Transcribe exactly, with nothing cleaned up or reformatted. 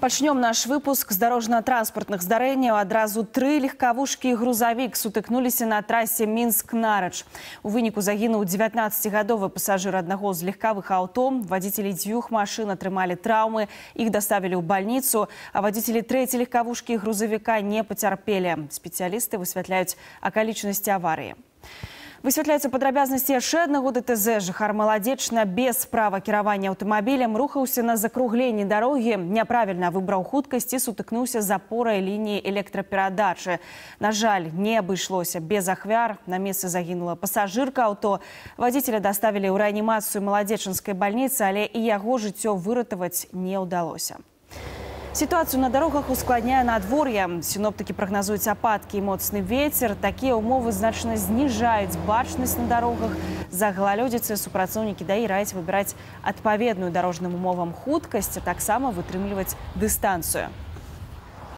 Пачнём наш выпуск з дарожна-транспартных здарэнняў. Адразу тры легкавушкі і грузавік сутыкнуліся на трасе Мінск-Нарач. У выніку загінуў дзевятнаццацігадовы пасажыр аднаго з легкавых аўто. Вадзіцелі дзвюх машын атрымалі траўмы, іх даставілі ў бальніцу, а вадзіцелі трэцяй легкавушкі і грузавіка не пацярпелі. Спецыялісты высвятляюць акалічнасці аварыі. Высвятляюцца падрабязнасці яшчэ аднаго ДТЗ. Жыхар Маладзечна без права кіравання аўтамабілем рухаўся на закругленні дарогі, няправільна выбраў хуткасць і сутыкнуўся з апорай лініі электраперадачы. На жаль, не абышлося без ахвяр. На месцы загінула пасажырка аўто. Вадзіцеля даставілі ў рэанімацыю Маладзечанскай бальніцы, але і яго жыццё выратаваць не ўдалося. Ситуацию на дорогах ускладняе надвор'е. Синоптики прогнозуюць ападкі і моцны вецер. Такія ўмовы значна зніжаюць бачнасць на дорогах. З-за галалёдзіцы супрацоўнікі ДАІ раяць выбіраць адпаведную дарожным умовам хуткасць, а таксама вытрымліваць дыстанцыю.